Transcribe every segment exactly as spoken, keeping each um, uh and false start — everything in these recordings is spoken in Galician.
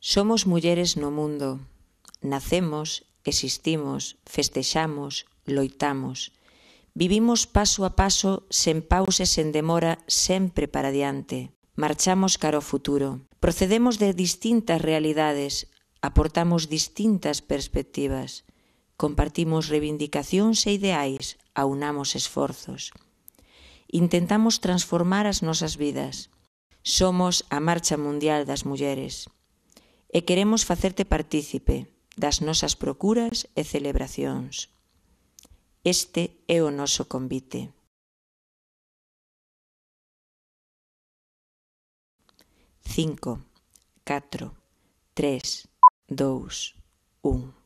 Somos mulleres no mundo. Nacemos, existimos, festexamos, loitamos. Vivimos paso a paso, sen pausa e sen demora, sempre para diante. Marchamos cara ao futuro. Procedemos de distintas realidades, aportamos distintas perspectivas. Compartimos reivindicacións e ideais, aunamos esforzos. Intentamos transformar as nosas vidas. Somos a Marcha Mundial das Mulleres. E queremos facerte partícipe das nosas procuras e celebracións. Este é o noso convite. Cinco, catro, tres, dous, un.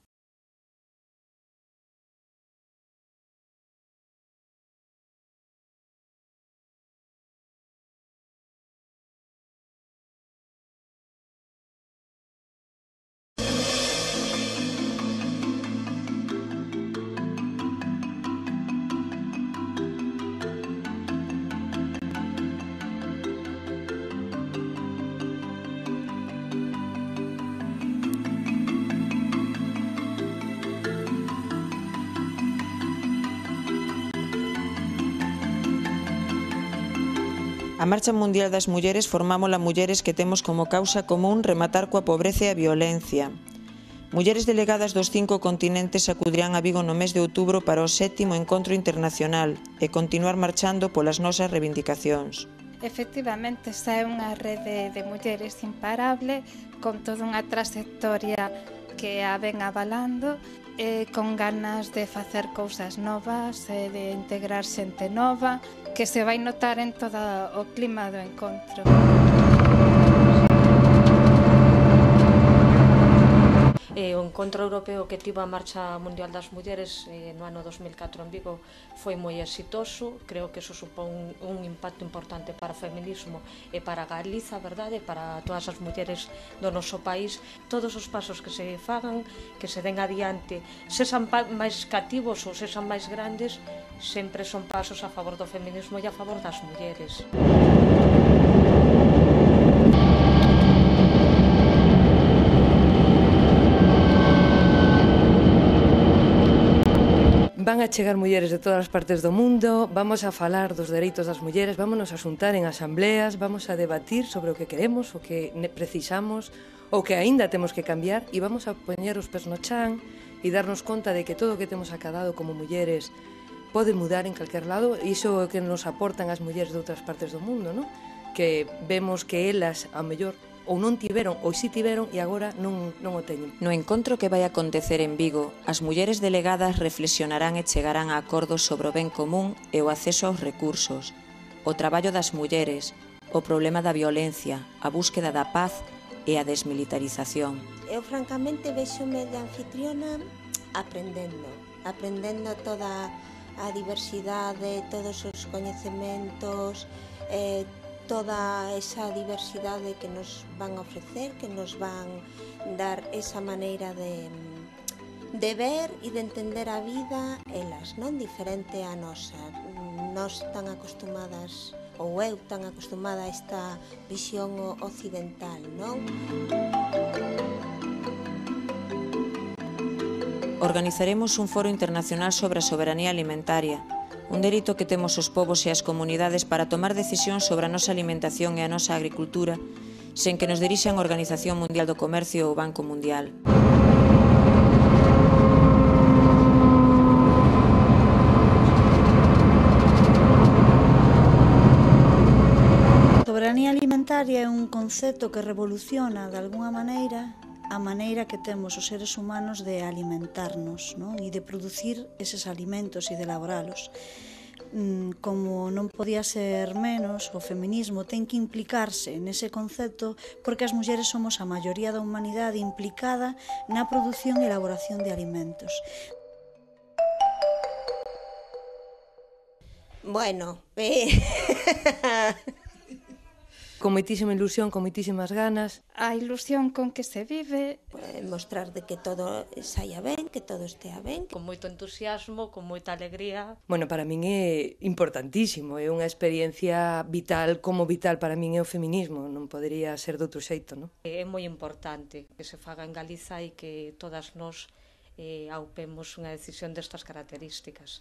A Marcha Mundial das Mulleres formámola mulleres que temos como causa común rematar coa pobreza e a violencia. Mulleres delegadas dos cinco continentes acudirán a Vigo no mes de outubro para o sétimo encontro internacional e continuar marchando polas nosas reivindicacións. Efectivamente, esta é unha rede de mulleres imparable, con toda unha trayectoria que a ven avalando, e con ganas de facer cousas novas e de integrar xente nova, que se vai notar en todo o clima do encontro. E o encontro europeo que tivo a Marcha Mundial das Mulleres eh, no ano dos mil catro en Vigo foi moi exitoso. Creo que eso supón un, un impacto importante para o feminismo e para Galiza, verdade, para todas as mulleres do noso país. Todos os pasos que se fagan, que se den adiante, sexan máis cativos ou sexan máis grandes, sempre son pasos a favor do feminismo e a favor das mulleres. Van a chegar mulleres de todas as partes do mundo, vamos a falar dos dereitos das mulleres, vámonos a xuntar en asambleas, vamos a debatir sobre o que queremos, o que precisamos, o que aínda temos que cambiar, e vamos a poñer os pés no chan e darnos conta de que todo o que temos acadado como mulleres pode mudar en calquer lado, e iso é o que nos aportan as mulleres de outras partes do mundo, non? Que vemos que elas, a mellor, ou non tiveron, ou si tiveron, e agora non, non o teñen. No encontro que vai acontecer en Vigo, as mulleres delegadas reflexionarán e chegarán a acordos sobre o ben común e o acceso aos recursos, o traballo das mulleres, o problema da violencia, a búsqueda da paz e a desmilitarización. Eu, francamente, vexome de anfitriona aprendendo, aprendendo toda a diversidade, todos os coñecementos, eh, toda esa diversidade que nos van a ofrecer, que nos van dar esa maneira de, de ver e de entender a vida, elas, non? Diferente a nosa. Nós tan acostumadas, ou eu tan acostumada a esta visión occidental, non? Organizaremos un foro internacional sobre a soberanía alimentaria, un dereito que temos os povos e as comunidades para tomar decisións sobre a nosa alimentación e a nosa agricultura sen que nos dirixan a Organización Mundial do Comercio ou o Banco Mundial. A soberanía alimentaria é un concepto que revoluciona, de algunha maneira, a maneira que temos os seres humanos de alimentarnos, non? E de producir eses alimentos e de elaboralos. Como non podía ser menos, o feminismo ten que implicarse nese concepto porque as mulleres somos a maioría da humanidade implicada na produción e elaboración de alimentos. Bueno, eh... Con moitísima ilusión, con moitísimas ganas. A ilusión con que se vive. Eh, mostrar de que todo saia ben, que todo estea ben. Con moito entusiasmo, con moita alegría. Bueno, para min é importantísimo, é unha experiencia vital, como vital para min é o feminismo, non podería ser de outro xeito, non? É moi importante que se faga en Galiza e que todas nós eh, aupemos unha decisión destas características.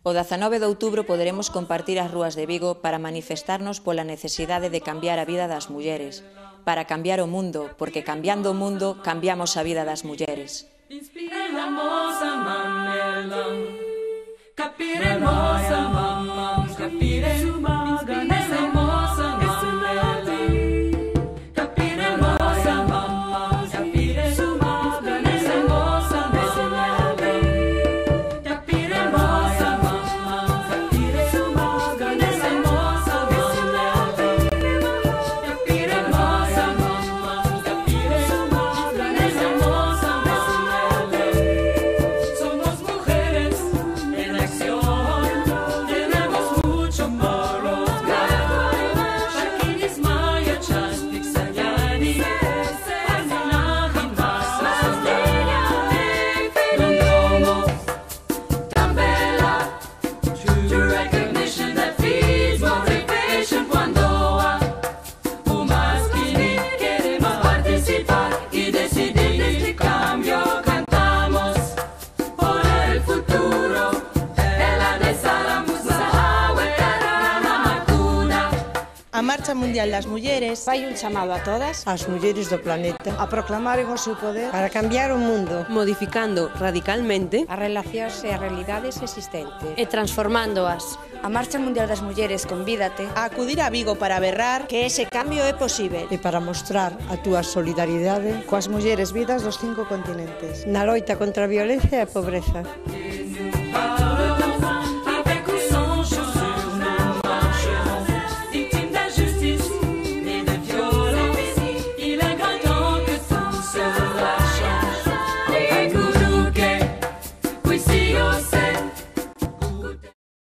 O dezanove de outubro poderemos compartir as rúas de Vigo para manifestarnos pola necesidade de cambiar a vida das mulleres, para cambiar o mundo, porque cambiando o mundo cambiamos a vida das mulleres. Inspiramos a Mandela, capiremos a mamá, capiremos a Mandela, capiremos a mamá, capiremos a A Marcha Mundial das Mulleres fai un chamado a todas as mulleres do planeta a proclamaren o seu poder para cambiar o mundo, modificando radicalmente as relacións e as realidades existentes e transformándoas. A Marcha Mundial das Mulleres convídate a acudir a Vigo para berrar que ese cambio é posible e para mostrar a túa solidaridade coas mulleres vidas dos cinco continentes na loita contra a violencia e a pobreza.